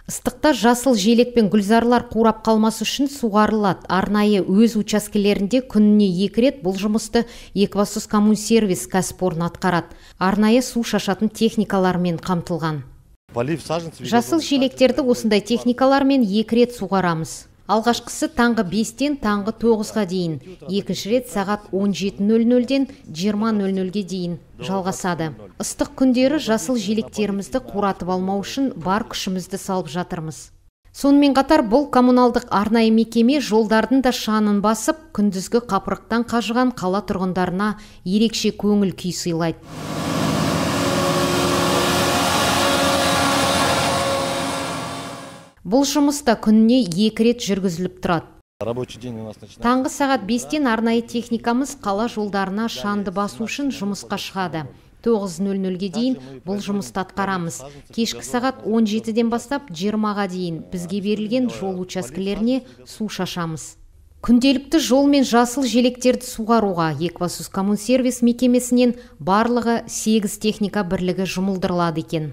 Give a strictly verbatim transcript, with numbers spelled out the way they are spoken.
Ыстықта жасыл желек пен гүлзарлар қурап қалмасы үшін суғарылады. Арнайы өз учаскелерінде күніне екі рет бұл жұмысты Екібастұз Коммунсервис кәсіпорны атқарады. Арнайы су шашатын техникалармен қамтылған. Жасыл желектерді осындай техникалармен екі рет суғарамыз. Алғашқысы таңғы бестен таңғы тоғызға дейін, екінші рет сағат он жеті нөл нөлден жиырма нөл нөлге дейін жалғасады. Ыстық күндері жасыл желектерімізді қуратып алмау үшін бар күшімізді салып жатырмыз. Сонымен қатар бұл коммуналдық арнайы мекеме жолдардың да шаңын басып, күндізгі қапырықтан қажыған қала тұрғындарына ерекше көңіл күй сыйлайды. Бұл жұмыста күніне екі рет жүргізіліп тұрады. Таңғы сағат бестен арнайы техникамыз қала жолдарына шаңды басу үшін жұмысқа шығады. тоғыз нөл нөлге дейін бұл жұмысты атқарамыз. Кешкі сағат он жетіден бастап жиырмаға дейін бізге берілген жол учаскелеріне су шашамыз. Күнделікті жол мен жасыл желектерді суғаруға Екібастұз Коммунсервис мекемесінен барлығы сегіз техника бірлігі жұмылдырылады екен.